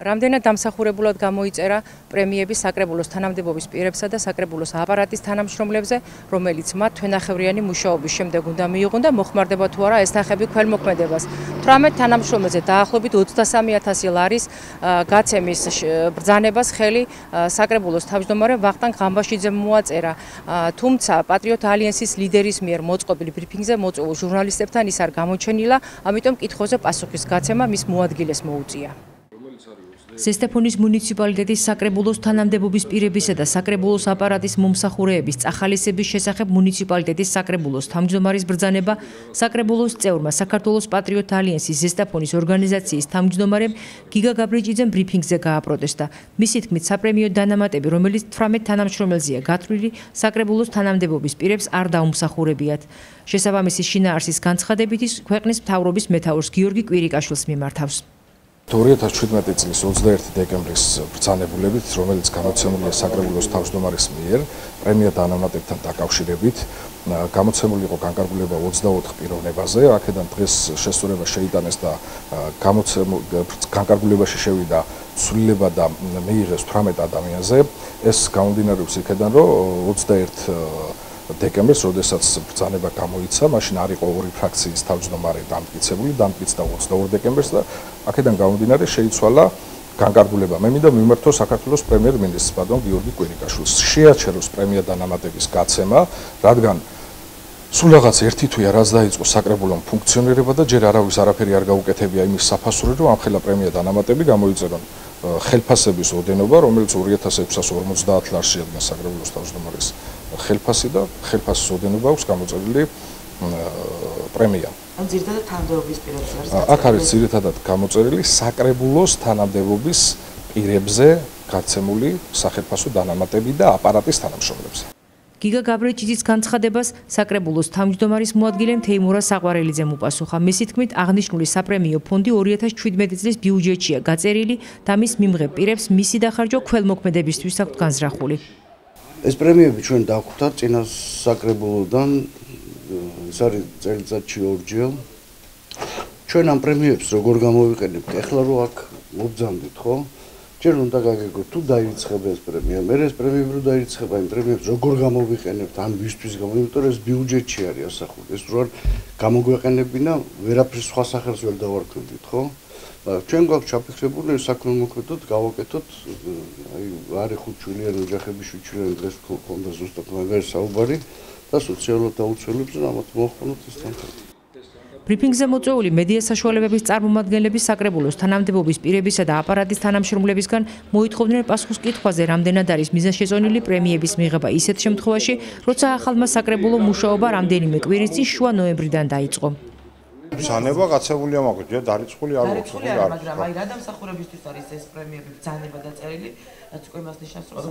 რამდენად დამსახურებულად გამოიწერა პრემიები საკრებულოს თანამდებობის პირებსა და საკრებულოს აპარატის თანამშრომლებზე, რომელიც მათ თვენახევრიანი მუშაობის შემდეგ უნდა მიიღონ და მოხმარდება თუ არა ეს თანხები ქველმოქმედებას. 18 თანამშრომელზე დაახლოებით 23,000 ლარის გაცემის ბრძანებას ხელი საკრებულოს თავმჯდომარე ვახტანგ ღამბაშიძემ მოაწერა. თუმცა პატრიოტ ალიანსის ლიდერის მიერ მოწყობილ ბრიფინგზე მოწვეულ ჟურნალისტებთან ის არ გამოჩენილა, ამიტომ კითხვებზე პასუხის გაცემა მის მოადგილეს მოუწია. ზესტაფონის მუნიციპალიტეტის საკრებულოს თანამდებობის პირებისა და საკრებულოს აპარატის მომსახურეების წახალისების შესახებ მუნიციპალიტეტის საკრებულოს თავმჯდომარის ბრძანება საკრებულოს წევრმა საქართველოს პატრიოტ ალიანსის ზესტაფონის ორგანიზაციის თავმჯდომარემ გიგა გაბრიჭიძემ ბრიფინგზე გააპროტესტა. მისი თქმით, საპრემიო დანამატები, რომელიც 18 თანამშრომელზეა გათვლილი, საკრებულოს თანამდებობის პირებს არ დაუმსახურებიათ. შესაბამისი შინაარსის განცხადებით ის ქვეყნის მთავრობის მეთაურს გიორგი კვირიკაშვილს მიმართავს. 2017 წლის 21 დეკემბრის ბრძანებულებით, რომელიც გამოცემულია საკრებულოს თავმჯდომარის მიერ, პრემია დანამატებთან დაკავშირებით, გამოცემული იყო განკარგულება 24 პიროვნებაზე, აქედან დღეს შესწორება შეიტანეს და განკარგულებაში შევიდა ცვლილება და მიიღეს 18 ადამიანზე. ეს გამომდინარეობს იქედან, რომ 21 დეკემბერს, როდესაც ბრძანება გამოიცა, მაშინ არ იყო ორი ფრაქციის თავმჯდომარე დამტკიცებული, დამტკიცდა 22 დეკემბერს და აქედან გამომდინარე შეიცვალა განკარგულება. მე მინდა მიმართო საქართველოს პრემიერ-მინისტრს ბატონ გიორგი კვირიკაშვილს. შეაჩეროს პრემია დანამატების გაცემა, რადგან სულ რაღაც ერთი თვეა რაც დაიწყო საკრებულომ ფუნქციონირება და ჯერ არავის არაფერი არ გაუკეთებია იმის საფასური, რომ ამხელა პრემია დანამატები გამოიწერონ ხელფასების ოდენობა, რომელიც 2650 ლარს შეადგენს საკრებულოს თავმჯდომარის ხელფასი და ხელფასის ოდენობა აქვს გამოწერილი პრემია. ან ძირითადად თანამდებობის პირებზე არის. აქ არის ძირითადად გამოწერილი საკრებულოს თანამდებობის პირებზე გაცემული სახელფასო დანამატები და აპარატის თანამშრომლებზე. გიგა გაბრიჭიძის განცხადებას საკრებულოს თავმჯდომარის მოადგილემ თეიმურა საყვარელიძემ უპასუხა. მისი თქმით, აღნიშნული საპრემიო ფონდი 2017 წლის ბიუჯეტშია გაწერილი და მის მიმღებ პირებს მისი დახარჯვა ქველმოქმედებისთვის აქვთ განზრახული. ეს პრემიები ჩვენ დავხვდათ წინა საკრებულოდან, ეს არის წელიწადში ორჯერ. ჩვენ ამ პრემიებს როგორ გამოვიყენებთ? ეხლა რო აქ მობძანდით, ხო? ჯერ უნდა გაგეგოთ თუ დაირიცხება ეს პრემია, მე ეს პრემიები რო დაირიცხება, იმ პრემიებს როგორ გამოვიყენებთ, ან ვისთვის იმიტომ რომ ეს ბიუჯეტში არის ასახული. ეს რო არ გამოგვეყენებინა, ვერაფერს სხვა სახელს ვერ დავარქმევით, ხო? ჩვენ გვაქვს ჩაფიქრებული საქველმოქმედოდ გავაკეთოთ, აი არის 5 ჩვენიანი ოჯახები, 7 ჩვენიანი დღეს ქონდა ზუსტად მაგარი საუბარი და სოციალურად დაუცველებს და ამათ მოხმაროთ ეს თანხები. ბრიფინგზე მოწვეული მედია საშუალებების წარმომადგენლები საკრებულოს თანამდებობის პირებისა და აპარატის თანამშრომლებისგან მოითხოვდნენ პასუხს კითხვაზე, რამდენად არის მიზანშეწონილი პრემიების მიღება ისეთ შემთხვევაში, როცა ახალმა საკრებულო მუშაობა რამდენიმე კვირის წინ შუა ნოემბრიდან დაიწყო. ბრძანება გაცემულია მაქვს, ჯერ დარიცხული არ აქვს, მაგრამ აი რა დამსახურებისთვის არის ეს პრემიები ბრძანება დაწერილი, რაც უკვე იმას ნიშნავს, რომ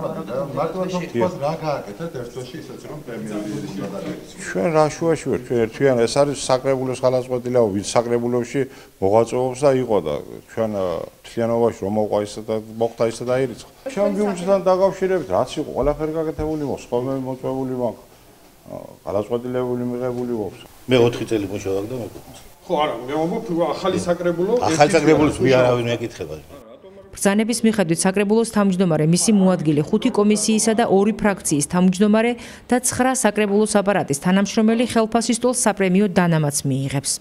მარტო თქვათ რა გააკეთეთ ერთ თვეში ისეც რომ პრემიები გადაიღეს. ჩვენ რა შუაში ვართ, ჩვენ ერთიან ეს არის საკრებულოს ხალხსწორია, ვინც საკრებულოში მოღვაწეობს და იყო და ჩვენ თლიანობაში რომ მოყვა ისე და მოხდა ისე დაირიცხა. ჩვენ ბიუჯეტთან დაკავშირებით რაც იყო, ყველაფერი გაკეთებული მოხდა, ხოლმე მოწვეული მაქვს. ხალხსწორიელებული მიღებული ვობს. მე 4 წელი მუშაობ და მეკუთვნის. ხო არა, მე ვამბობ ახალი საკრებულო. ახალი საკრებულოს ვიარავინ მეკითხება. ბრძანების მიხედვით საკრებულოს თავმჯდომარე, მისი მოადგილე 5 კომისიისა და 2 ფრაქციის თავმჯდომარე და 9 საკრებულოს აპარატის თანამშრომელი ხელფასის ტოლს საპრემიო დანამატს მიიღებს.